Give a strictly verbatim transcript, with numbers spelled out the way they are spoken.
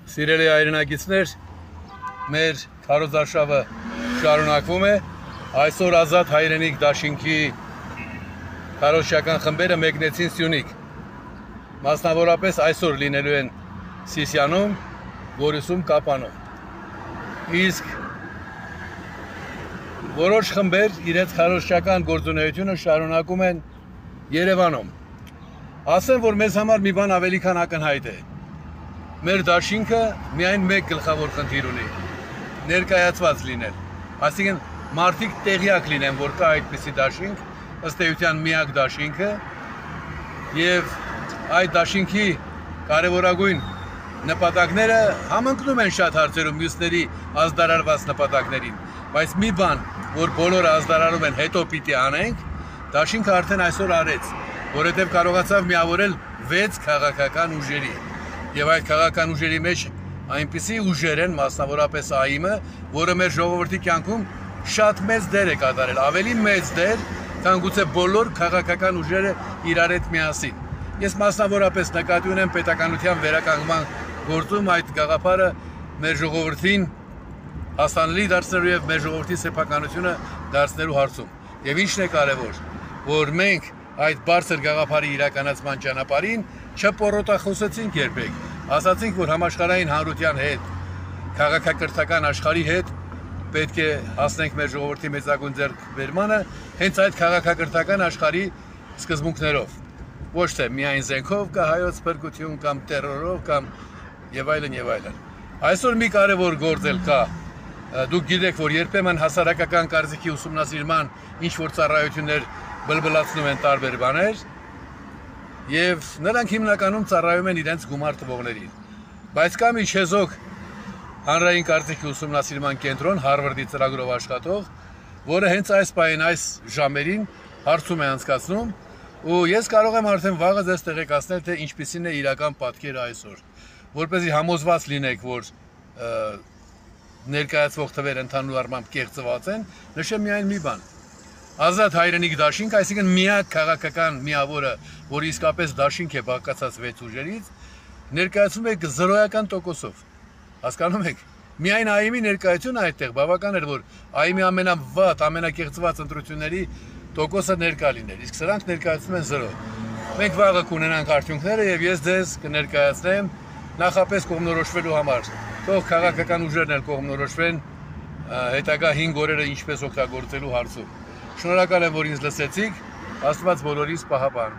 Սիրելի հայրենակիցներ, մեր քարոզարշավը շարունակվում է, այսօր ազատ հայրենիք դաշինքի քարոզչական խմբերը մեկնեցին Սյունիք, մասնավորապես այսօր լինելու են Սիսիանում, Գորիսում, Կապանում, իսկ որոշ խմբեր իրենց քարոզչական գործունեությունը շարունակում են Երևանում, ասեմ, որ մեզ համար մի բան ավելի քան ակնհայտ է, մեր դաշինքը միայն մեկ գլխավոր խնդիր ունի, ներկայացված լինել, այսինքն մարդիկ տեղյակ լինեն, որ կա այդպիսի դաշինք, ըստ էության միակ դաշինքը և այդ դաշինքի կարևորագույն նպատակները համընկնում են շատ հարցերում մյուսների ազդարարված նպատակներին, բայց մի բան, որ բոլորը ազդարարում են հետո պիտի անենք, դաշինքը արդեն այսօր արեց, որովհետև կարողացավ միավորել վեց քաղաքական ուժերի և այդ քաղաքական ուժերի մեջ այնպիսի ուժեր են, մասնավորապես ԱԻՄ-ը, որը մեր ժողովրդի կյանքում շատ մեծ դեր է կատարել, ավելի մեծ դեր, քան գուցե բոլոր քաղաքական ուժերը իրար հետ միասին։ Ես մասնավորապես նկատի ունեմ պետականության վերականգնման գործում այդ գաղափարը մեր ժողովրդին հասանելի դարձնելու և մեր ժողովրդի սեփականությունը դարձնելու հարցում։ Եվ ինչն է կարևոր, որ մենք այդ բարձր գաղափարի իրականացման ճանապարհին չպոռոտախոսեցինք երբեք, ասացինք, որ համաշխարհային հանրության հետ, քաղաքակրթական աշխարհի հետ պետք է հասնենք մեր ժողովրդի մեծագույն ձեռքբերմանը հենց այդ քաղաքակրթական աշխարհի սկզբունքներով, ոչ թե միայն զենքով կա հայոց փրկություն կամ տերորով կամ եւ այլն եւ այլն։ Այսօր մի կարևոր գործ էլ կա, դուք գիտեք, որ երբեմն հասարակական կարծիքի ուսումնասիրման ինչ որ ծառայություններ բլբլացնում են տարբեր բաներ եւ նրանք հիմնականում ծառայում են իրենց գումար տվողներին, բայց կա մի չեզոք հանրային կարծիքի ուսումնասիրման կենտրոն Հարվարդի ծրագրով աշխատող, որը հենց այս պահին այս ժամերին հարցում է անցկացնում ու ես կարող եմ արդեն վաղը ձեզ տեղեկացնել, թե ինչպիսին է իրական պատկերը այսօր, որպեսզի համոզված լինեք, որ ներկայացվող թվերը ընդհանուր առմամբ կեղծված են, նշեմ միայն մի բան։ Ազատ հայրենիք դաշինք, այսինքն միակ քաղաքական միավորը, որը իսկապես դաշինք է բաղկացած վեց ուժերից, ներկայացվում է զրոյական տոկոսով։ Հասկանում եք, միայն ԱԻՄ-ի ներկայությունը այդտեղ բավական էր, որ ԱԻՄ-ի ամենավատ, ամենակեղծված ընտրությունների տոկոսը ներկա լիներ, իսկ սրանք ներկայացնում են զրո։ Մենք վաղը կունենանք արդյունքները և ես ձեզ կներկայացնեմ նախապես կողմնորոշվելու համար, թող քաղաքական ուժերն էլ կողմնորոշվեն հետագա հինգ օրերը ինչպես օգտագործելու հարցում։ Շնորհակալ եմ, որ ինձ լսեցիք, Աստված բոլորիս պահապան։